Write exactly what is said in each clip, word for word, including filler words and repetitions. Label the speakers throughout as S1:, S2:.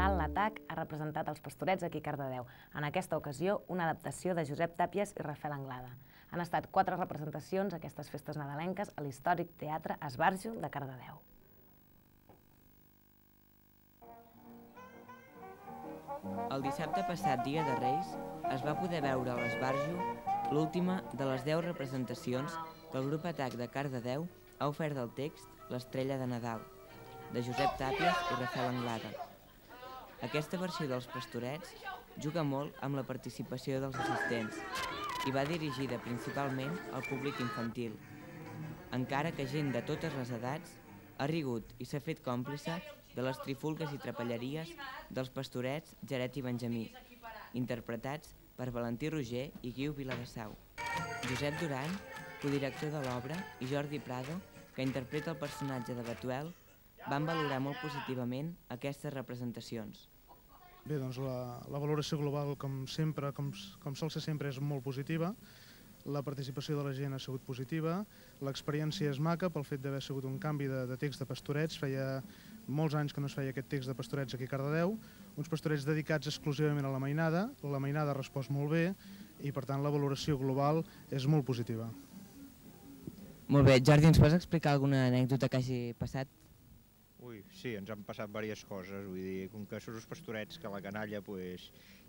S1: Canal l'Atac ha representat els Pastorets aquí a Cardedeu. En aquesta ocasió, una adaptació de Josep Tàpies i Rafael Anglada. Han estat quatre representacions a aquestes festes nadalenques a l'històric Teatre Esbarjo de Cardedeu.
S2: El dissabte passat, dia de Reis, es va poder veure a l'Esbarjo l'última de les deu representacions que el grup Atac de Cardedeu ha ofert del text L'Estrella de Nadal, de Josep Tàpies i Rafael Anglada. Aquesta versió dels Pastorets juga molt amb la participació dels assistents i va dirigida principalment al públic infantil, encara que gent de totes les edats ha rigut i s'ha fet còmplice de les trifulgues i trapelleries dels Pastorets Jaret i Benjamí, interpretats per Valentí Roger i Guiu Viladesau. Josep Duran, codirector de l'obra, i Jordi Prado, que interpreta el personatge de Betuel, van valorar molt positivament aquestes representacions.
S3: Bé, doncs la, la valoració global, com sempre, com, com sol ser sempre, és molt positiva. La participació de la gent ha sigut positiva. L'experiència és maca pel fet d'haver sigut un canvi de, de text de Pastorets. Feia molts anys que no es feia aquest text de Pastorets aquí a Cardedeu. Uns Pastorets dedicats exclusivament a la mainada. La mainada ha respost molt bé i, per tant, la valoració global és molt positiva.
S2: Molt bé. Jordi, ens pots explicar alguna anècdota que hagi passat?
S4: Ui, sí, ens han passat diverses coses, vull dir, com que són els Pastorets que la canalla pues,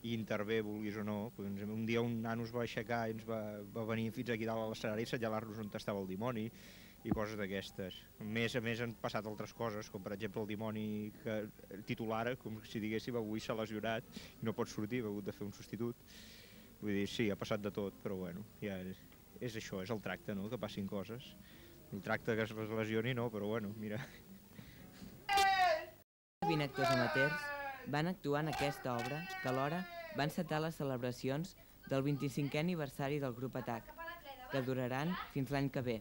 S4: hi intervé, vulguis o no, pues, un dia un nano es va aixecar i ens va, va venir fins aquí dalt a l'escenari i assenyalar-nos on estava el dimoni i coses d'aquestes. A més a més han passat altres coses, com per exemple el dimoni que, titular, com si diguéssim avui s'ha lesionat i no pot sortir, ha hagut de fer un substitut. Vull dir, sí, ha passat de tot, però bueno, ja és, és això, és el tracte, no?, que passin coses. El tracte que es lesioni no, però bueno, mira.
S2: vint actors amateurs van actuar en aquesta obra que alhora va encetar les celebracions del vint-i-cinquè aniversari del grup Atac, que duraran fins l'any que ve.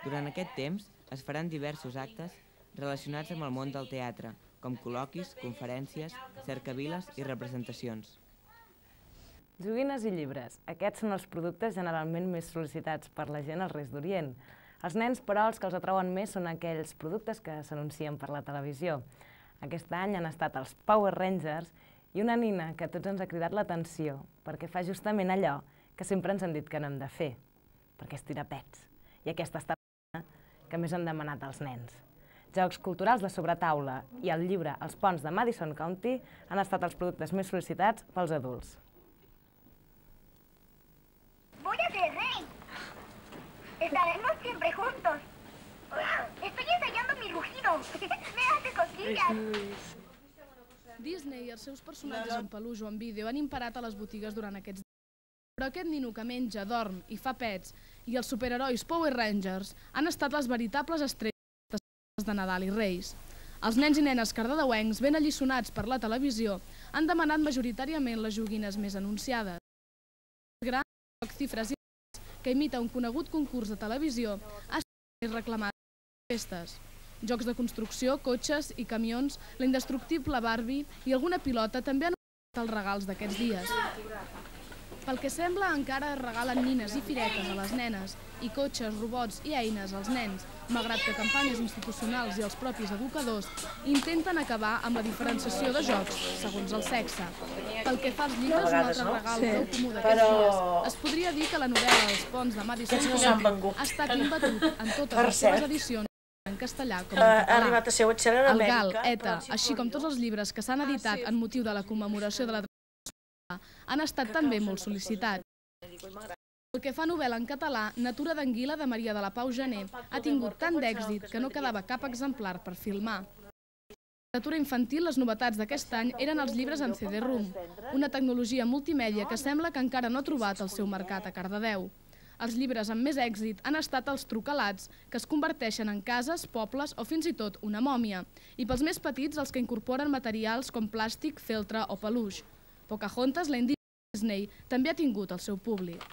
S2: Durant aquest temps es faran diversos actes relacionats amb el món del teatre, com col·loquis, conferències, cercaviles i representacions.
S1: Joguines i llibres. Aquests són els productes generalment més sol·licitats per la gent als Reis d'Orient. Els nens, però, els que els atrauen més són aquells productes que s'anuncien per la televisió. Aquest any han estat els Power Rangers i una nina que a tots ens ha cridat l'atenció perquè fa justament allò que sempre ens han dit que no hem de fer, perquè és tirar pets. I aquesta està la que més han demanat els nens. Jocs culturals de sobretaula i el llibre Els ponts de Madison County han estat els productes més sol·licitats pels adults.
S5: Voy a ser rey. Estaremos siempre juntos. Estoy ensayando mi rugido. Me hace cosquillas.
S6: Disney i els seus personatges en peluix o en vídeo han imparat a les botigues durant aquests dies. Però aquest nino que menja, dorm i fa pets i els superherois Power Rangers han estat les veritables estrelles de Nadal i Reis. Els nens i nenes cardedeuencs, ben alliçonats per la televisió, han demanat majoritàriament les joguines més anunciades. El gran joc Cifres i Lettres, que imita un conegut concurs de televisió, ha estat més reclamat a les festes. Jocs de construcció, cotxes i camions, la indestructible Barbie i alguna pilota també han estat els regals d'aquests dies. Pel que sembla, encara es regalen nines i firetes a les nenes i cotxes, robots i eines als nens, malgrat que campanyes institucionals i els propis educadors intenten acabar amb la diferenciació de jocs segons el sexe. Pel que fa als llibres, un altre regal prou comú d'aquests dies, es podria dir que la novel·la Els ponts de Madison County ha estat imbatut en totes les seves edicions en castellà com en català. El Gal, Eta, així com tots els llibres que s'han editat en motiu de la commemoració de la tradició han estat també molt sol·licitats. Pel que fa a novel·la en català, Natura d'anguila de Maria de la Pau Gené ha tingut tant d'èxit que no quedava cap exemplar per filmar. En literatura infantil, les novetats d'aquest any eren els llibres en C D-ROOM, una tecnologia multimèdia que sembla que encara no ha trobat el seu mercat a Cardedeu. Els llibres amb més èxit han estat els trucalats, que es converteixen en cases, pobles o fins i tot una mòmia, i pels més petits els que incorporen materials com plàstic, feltre o peluix. Pocahontas, la indígena Disney, també ha tingut el seu públic.